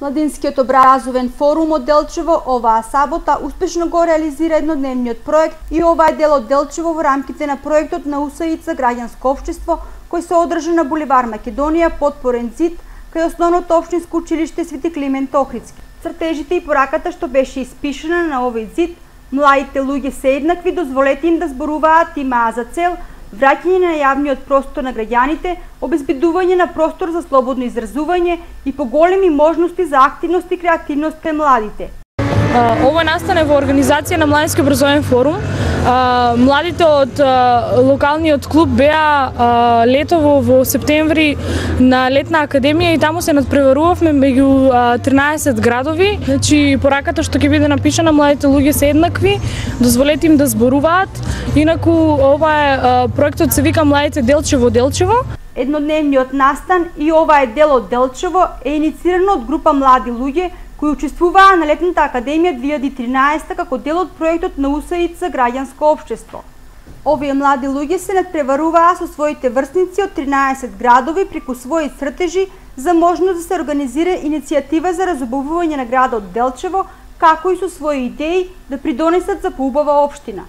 Младинскиот образовен форум од Делчево оваа сабота успешно го реализира еднодневниот проект и ова е дел од Делчево во рамките на проектот на УСИЦ граѓанско општество кој се одржа на булевар Македонија подпорен зид кај основното општинско училиште Свети Климент Охридски. Цртежите и пораката што беше испишана на овој зид, младите луѓе се еднакви, дозволете им да зборуваат, имаа за цел враќање на јавниот простор на граѓаните, обезбедување на простор за слободно изразување и поголеми можности за активност и креативност кај младите. Ова настане во организација на Младински образовен форум. Младите од локалниот клуб беа летово во септември на летна академија и таму се надпреварувавме меѓу 13 градови. Значи пораката што ќе биде напишана, младите луѓе се еднакви, дозволете им да зборуваат. Инаку ова е проектот се вика Младите Делчево. Еднодневниот настан и ова е дел од Делчево е инициирано од група млади луѓе кои учествуваа на летната академија 2013 како дел од проектот на УСИЦ граѓанско општество. Овие млади луѓе се надпреваруваа со своите врсници од 13 градови преку своји цртежи за можност да се организира иницијатива за разубавување на градот Делчево, како и со своји идеи да придонесат за поубава општина.